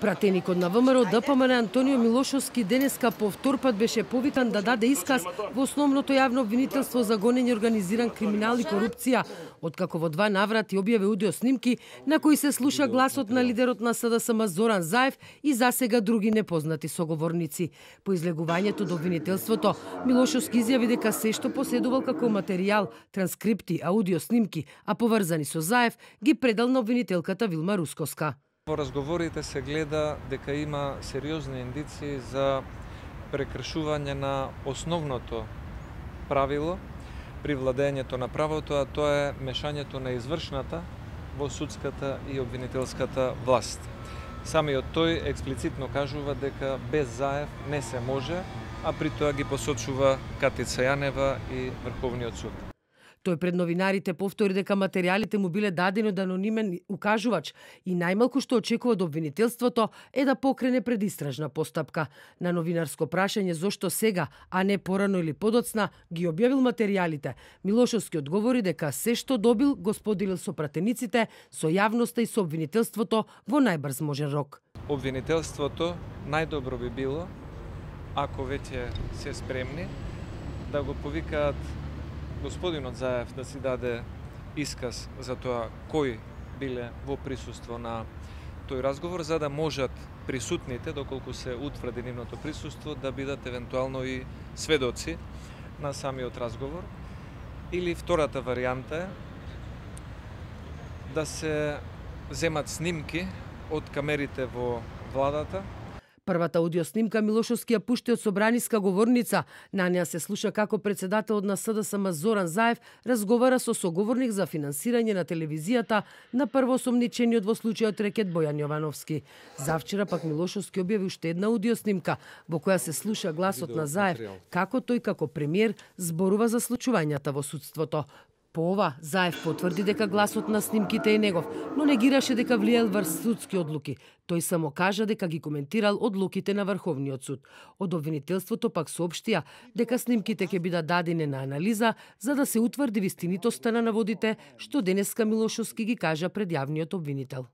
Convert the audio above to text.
Пратеникот на ВМРО ДПМН Антонио Милошовски денеска по втор пат беше повикан да даде исказ во основното јавно обвинителство за гонење организиран криминал и корупција, откако во 2 наврати објави аудио снимки на кои се слуша гласот на лидерот на СДСМ Зоран Заев и засега други непознати соговорници. По излегувањето до обвинителството, Милошовски изјави дека се што поседувал како материјал, транскрипти, аудио снимки, а поврзани со Заев, ги предал на обвинителката Вилма Рускоска. Во разговорите се гледа дека има сериозни индиции за прекршување на основното правило при владењето на правото, а тоа е мешањето на извршната во судската и обвинителската власт. Самиот тој експлицитно кажува дека без Заев не се може, а при тоа ги посочува Катица Јанева и Врховниот суд. Тој пред новинарите повтори дека материјалите му биле дадени од анонимен укажувач и најмалку што очекува од обвинителството е да покрене предистражна постапка. На новинарско прашање зошто сега, а не порано или подоцна, ги објавил материјалите, Милошовски одговори дека се што добил го споделил со пратениците, со јавноста и со обвинителството во најбрз можен рок. Обвинителството најдобро би било, ако веќе се спремни, да го повикаат господинот Заев да си даде исказ за тоа кои биле во присуство на тој разговор, за да можат присутните, доколку се утврди нивното присуство, да бидат евентуално и сведоци на самиот разговор. Или втората варијанта е да се земат снимки од камерите во владата. Првата аудиоснимка Милошовски ја пушти од собраниска говорница. На неа се слуша како председателот на СДСМ Зоран Заев разговара со соговорник за финансирање на телевизијата на првоосомничениот во случајот рекет Бојан Јовановски. Завчера пак Милошовски објави уште една аудиоснимка во која се слуша гласот на Заев како тој како премиер зборува за случувањата во судството. По ова, Заев потврди дека гласот на снимките е негов, но негираше дека влиел врз судски одлуки. Тој само кажа дека ги коментирал одлуките на Врховниот суд. Од обвинителството пак соопштија дека снимките ќе бидат дадени на анализа за да се утврди вистинитоста на наводите што денеска Милошовски ги кажа пред јавниот обвинител.